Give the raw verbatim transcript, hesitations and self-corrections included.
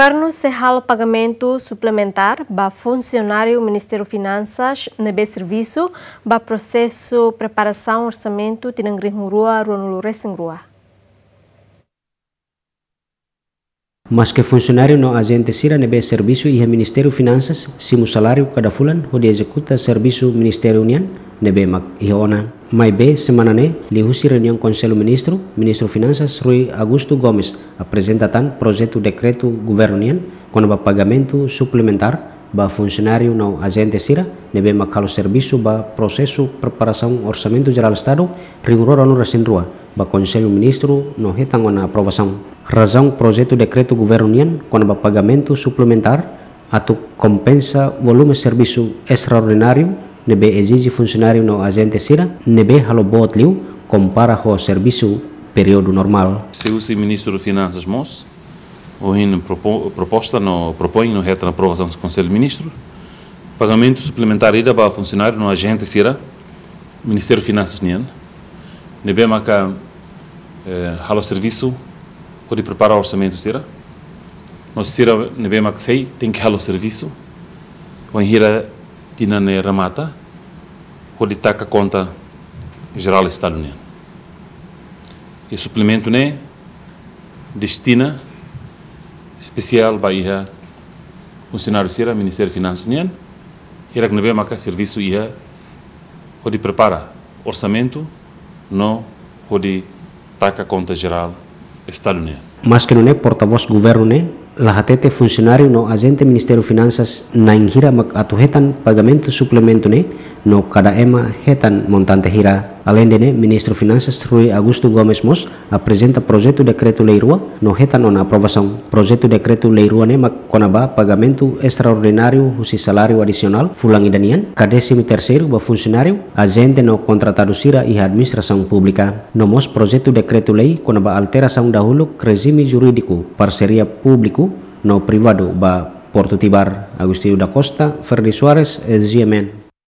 Governu sei halo pagamentu suplementár ba funsionáriu Ministériu Finansas ne'ebé servisu ba prosesu preparasaun orsamentu tinan rihun rua ruanulu resin rua. Maske funsionáriu no ajente sira ne'ebé servisu iha Ministériu Finansas simu saláriu kada fulan hodi ezekuta servisu ministériu nian ne'ebé mak iha ona. Maibé semana ne'e, liuhusi reuniaun Konsellu Ministru, Ministru Finansas Rui Augusto Gomes aprezenta tan projetu dekretu governu nian kona-ba pagamentu suplementár ba funsionáriu no ajente sira ne'ebé mak halo servisu ba prosesu preparasaun Orsamentu Jerál Estadu rihun rua ruanulu resin rua ba Konsellu Ministru no hetan ona aprovasaun. Razaun projetu dekretu governu nian kona-ba pagamentu suplementár atu kompensa volume servisu estraordináriu ne'ebé ezije funsionáriu no ajente sira ne'ebé halo boot liu kompara ho servisu períodu normál. Sei husi Ministru Finansas mós, ohin propo-, proposta no propoin no hetan aprovasaun Konsellu Ministru, pagamentu suplementár ida ba funsionáriu no ajente sira Ministériu Finansas nian, ne'ebé maka, eh, halo servisu hodi prepara orsamentu sira, no sira ne'ebé maka sei tenke halo servisu wainhira tinan ne'e remata hodi taka konta jerál Estadu nian. I suplementu ne'e destina espesiál ba iha funsionáriu sira Ministériu Finansas nian, hirak ne'ebé maka servisu iha hodi prepara orsamentu no hodi taka konta jerál Estadu nian. Maske nune'e, portavós governu ne'e la hatete funsionáriu no ajente Ministériu Finansas na'in hira mak atu hetan pagamentu suplementu ne'e no kada ema hetan montante hira. Aleinde ne'e, Ministru Finansas Rui Augusto Gomes mós aprezenta projetu dekretu-lei rua no hetan ona aprovasaun. Projetu dekretu-lei rua ne'e mak kona-ba pagamentu estraordináriu husi saláriu adisionál fulan ida nian, ka désimu terseiru ba funsionáriu, ajente no kontratadu sira iha administrasaun públika. No mós projetu dekretu-lei kona-ba alterasaun dahuluk rejime jurídiku parseria públiku no privadu ba Portu Tibar. Agostinho da Costa, Ferdi Soares, G M N.